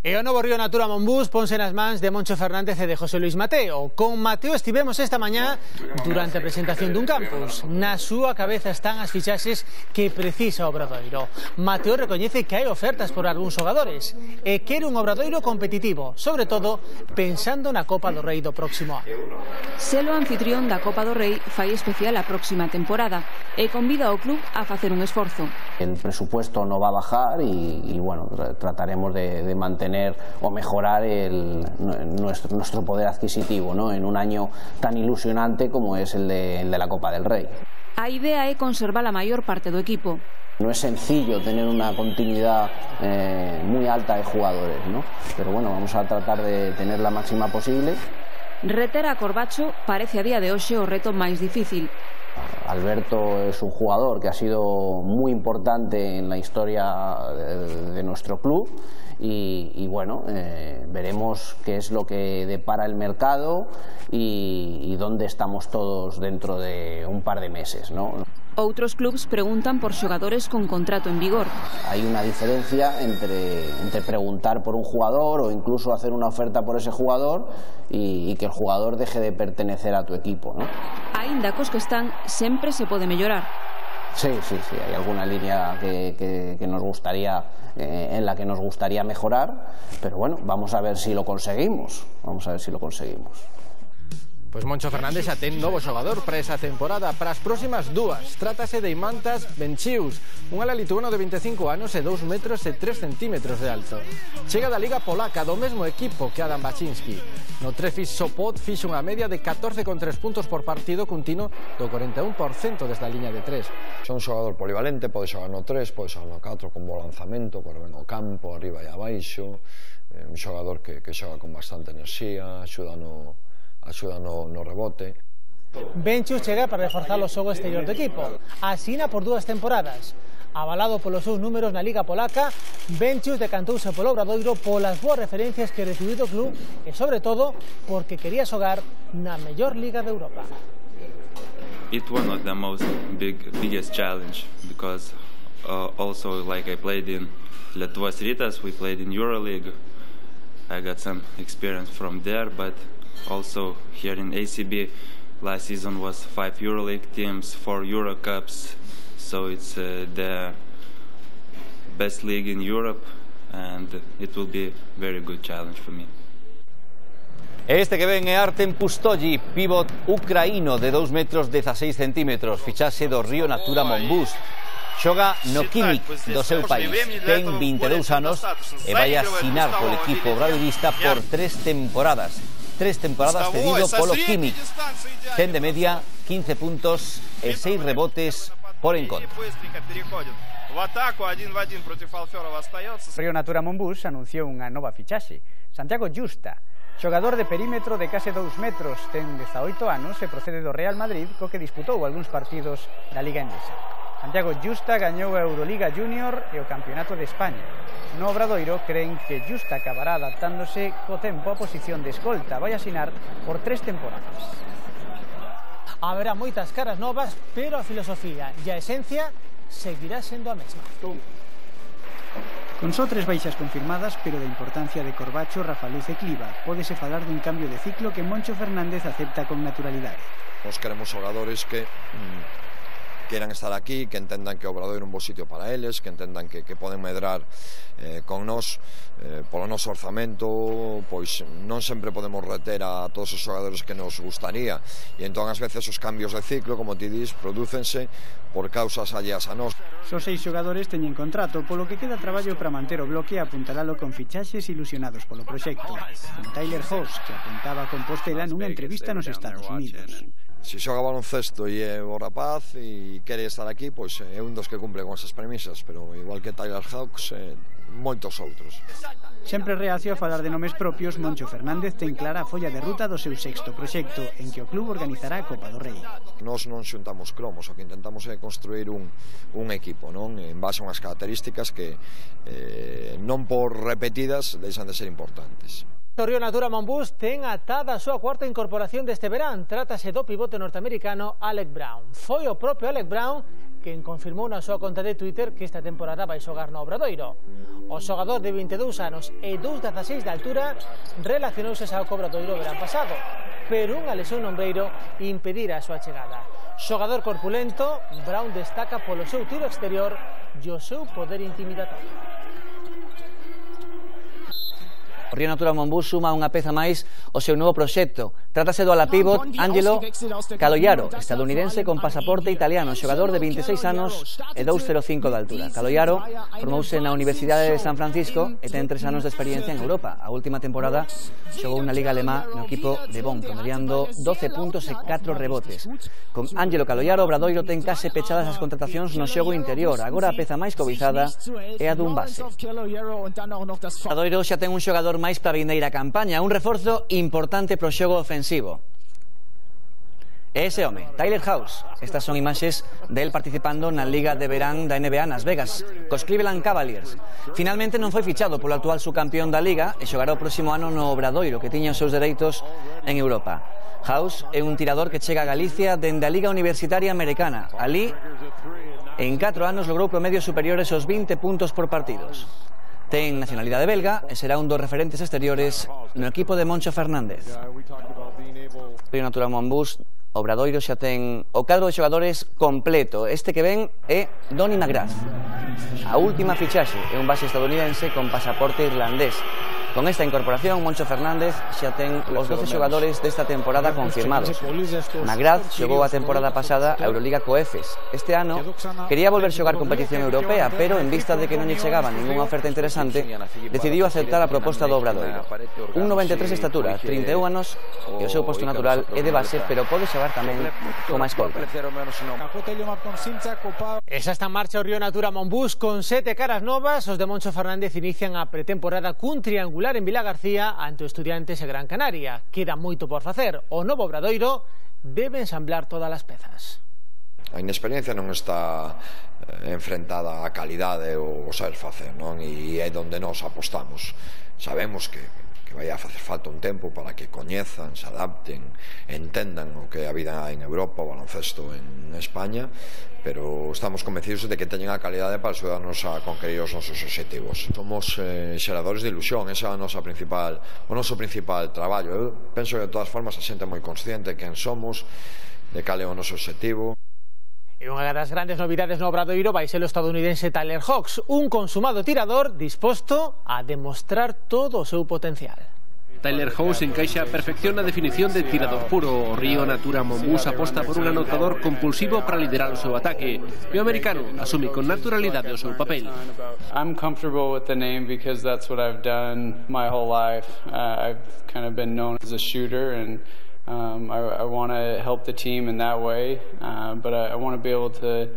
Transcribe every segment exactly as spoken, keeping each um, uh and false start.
E o novo Río Natura Monbús ponse nas mans de Moncho Fernández e de José Luis Mateo. Con Mateo estivemos esta mañá durante a presentación dun campus. Na súa cabeza están as fichaxes que precisa o Obradoiro. Mateo recoñece que hai ofertas por algúns xogadores e quere un Obradoiro competitivo, sobre todo pensando na Copa do Rei do próximo ano. Selo anfitrión da Copa do Rei fai especial a próxima temporada e convida ao club a facer un esforzo. El presupuesto no va a bajar y, y bueno, trataremos de, de mantener o mejorar el, nuestro, nuestro poder adquisitivo, ¿no? En un año tan ilusionante como es el de, el de la Copa del Rey. A idea é conservar a maior parte do equipo. No es sencillo tener una continuidad eh, muy alta de jugadores, ¿no? Pero bueno, vamos a tratar de tener la máxima posible. Reter a Corbacho parece a día de hoxe o reto máis difícil. Alberto es un jugador que ha sido muy importante en la historia de, de nuestro club y, y bueno, eh, veremos qué es lo que depara el mercado y, y dónde estamos todos dentro de un par de meses, ¿no? Outros clubs preguntan por xogadores con contrato en vigor. Hay una diferencia entre, entre preguntar por un jugador o incluso hacer una oferta por ese jugador y, y que el jugador deje de pertenecer a tu equipo, ¿no? Aínda cos que están, sempre se pode mellorar. Sí, sí, sí, hay alguna línea que, que, que nos gustaría, eh, en la que nos gustaría mejorar, pero bueno, vamos a ver si lo conseguimos, vamos a ver si lo conseguimos. Pois Moncho Fernández xa ten novo xogador para esa temporada, para as próximas dúas. Trátase de Imantas Benchius, un ala lituano de vinte e cinco anos e dous metros e tres centímetros de alto. Chega da Liga Polaca, do mesmo equipo que Adam Baczynski. No Trefis Sopot fixa unha media de catorce con tres puntos por partido, cun tino do cuarenta e un por cento desde a liña de tres. É un xogador polivalente, pode xogar no tres, pode xogar no catro, con bo lanzamento, corre ben o campo, arriba e abaixo. É un xogador que, que xoga con bastante enerxía, axuda no... axuda no, no rebote. Benchius chega para reforzar o xogo exterior do equipo. Asina por dúas temporadas. Avalado polos seus números na Liga Polaca, Benchius decantouse polo Obradoiro polas boas referencias que recibiu do club e, sobre todo, porque quería xogar na mellor liga de Europa. It was not the most big, biggest challenge because uh, also like I played in Lietuvos Rytas, we played in EuroLeague. I got some experience from there, but also here in A C B last season was five EuroLeague teams, four Euro Cups, so it's uh, the best league in Europe and it will be a very good challenge for me. Este que ven é Artem Pustolli, pívot ucraíno de dous metros dezaseis centímetros, fichaxe do Río Natura Monbús. Xoga no Químic do seu país, ten vinte e dous anos e vai asinar polo equipo obradoirista por tres temporadas. Tres temporadas cedido polo Químic. Ten de media quince puntos e seis rebotes por encontro. Río Natura Monbús anunciou unha nova fichaxe, Santiago Justa, xogador de perímetro de case dous metros, ten dezaoito anos e procede do Real Madrid, co que disputou algúns partidos da Liga Endesa. Santiago Justa gañou a Euroliga Junior e o Campeonato de España. No Obradoiro creen que Justa acabará adaptándose co tempo a posición de escolta. Vai asinar por tres temporadas. Haberá moitas caras novas, pero a filosofía e a esencia seguirá sendo a mesma. Con só tres baixas confirmadas, pero da importancia de Corbacho, Rafa Luz e Cliva, pódese falar dun cambio de ciclo que Moncho Fernández acepta con naturalidade. Nos queremos xogadores que mmm, queran estar aquí, que entendan que o Obradoiro é un bo sitio para eles, que entendan que, que poden medrar eh, con nós eh, polo noso orzamento, pois non sempre podemos reter a todos os xogadores que nos gustaría e entón ás veces os cambios de ciclo, como ti dis, prodúcense por causas alleas a nós. Só seis xogadores teñen contrato, polo que queda traballo para manter o bloque e apuntalalo con fichaxes ilusionados polo proxecto, como Tyler Hoss, que apuntaba a Compostela nunha entrevista nos Estados Unidos. Se xoga baloncesto e é o rapaz e quere estar aquí, pois é un dos que cumple con esas premisas, pero igual que Tyler Hawks, eh, moitos outros. Sempre reacio a falar de nomes propios, Moncho Fernández ten clara a folla de ruta do seu sexto proxecto, en que o club organizará a Copa do Rei. Nós non xuntamos cromos, o que intentamos é construir un, un equipo, non? En base a unhas características que eh, non por repetidas deixan de ser importantes. O Río Natura Monbús ten atada a súa cuarta incorporación deste verán. Trátase do pivote norteamericano Alec Brown. Foi o propio Alec Brown quen confirmou na súa conta de Twitter que esta temporada vai xogar no Obradoiro. O xogador de vinte e dous anos e dous metros dezaseis de altura relacionouse ao Obradoiro o verán pasado, pero unha lesión no ombreiro impedirá a súa chegada. Xogador corpulento, Brown destaca polo seu tiro exterior e o seu poder intimidatorio. O Río Natura Monbus suma unha peza máis ao seu novo proxecto. Trátase do ala pívot Angelo Caloiaro, estadounidense con pasaporte italiano, xogador de vinte e seis anos e dous metros cinco de altura. Caloiaro formouse na Universidade de San Francisco e ten tres anos de experiencia en Europa. A última temporada xogou na Liga Alemá no equipo de Bonn, promediando doce puntos e catro rebotes. Con Angelo Caloiaro, Obradoiro ten case pechadas as contratacións no xogo interior. Agora a peza máis cobizada é a dun base. Obradoiro xa ten un xogador máis para a vindeira campaña, un reforzo importante pro xogo ofensivo. E ese home, Tyler House. Estas son imaxes del participando na Liga de Verán da N B A nas Vegas, cos Cleveland Cavaliers. Finalmente non foi fichado polo actual subcampeón da Liga e xogará o próximo ano no Obradoiro, que tiña os seus dereitos en Europa. House é un tirador que chega a Galicia dende a Liga Universitaria Americana. Alí, en catro anos, logrou promedios superiores aos vinte puntos por partidos. Ten nacionalidade belga e será un dos referentes exteriores no equipo de Moncho Fernández. Río Natura Monbus, Obradoiro xa ten o cadro de xogadores completo. Este que ven é Donny McGrath. A última fichaxe é un base estadounidense con pasaporte irlandés. Con esta incorporación, Moncho Fernández xa ten os doce xogadores desta temporada confirmados. McGrath xogou a temporada pasada a Euroliga co Efes. Este ano quería volver xogar competición europea, pero en vista de que non lle chegaba ninguna oferta interesante, decidiu aceptar a proposta do Obradoiro. Un noventa e tres de estatura, trinta e un anos, e o seu posto natural é de base, pero pode xogar tamén como escolta. Esa está en marcha o Río Natura Monbus con sete caras novas. Os de Moncho Fernández inician a pretemporada cun triangular en Vila García ante Estudiantes e Gran Canaria. Queda moito por facer. O novo Obradoiro debe ensamblar todas as pezas. A inexperiencia non está enfrentada á calidade ou saber facer, non? E é onde nós apostamos. Sabemos que que vai a facer falta un tempo para que coñezan, se adapten, entendan o que é a vida en Europa, o baloncesto en España, pero estamos convencidos de que teñen a calidade para axudarnos a conquerir os nosos obxectivos. Somos eh, xeradores de ilusión, esa é a nosa principal, o noso principal traballo. Eu penso que de todas formas a xente é moi consciente de quen somos, de cal é o noso obxectivo. E unha das grandes novidades no Obradoiro vai ser o estadounidense Tyler House, un consumado tirador disposto a demostrar todo o seu potencial. Tyler House encaixa a perfección na definición de tirador puro. O Río Natura Monbus aposta por un anotador compulsivo para liderar o seu ataque. E o americano asume con naturalidade o seu papel. I'm comfortable with the name because that's what I've done my whole life. Uh, I've kind of been known as a shooter and Um, I, I want to help the team in that way, uh, but I, I want to be able to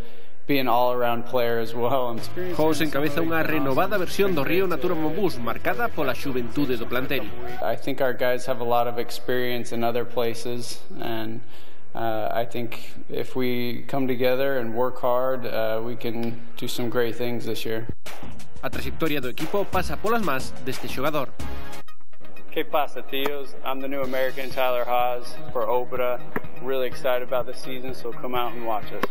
be an all-around player as well. House encabeza unha renovada versión do Río Natura Monbus marcada pola xuventude do plantel. I think our guys have a lot of experience in other places, and uh, I think if we come together and work hard, uh, we can do some great things this year. A trayectoria do equipo pasa polas más deste xogador. ¿Qué pasa, tíos? I'm the new American Tyler Haws for Obra. Really excited about the season, so come out and watch us.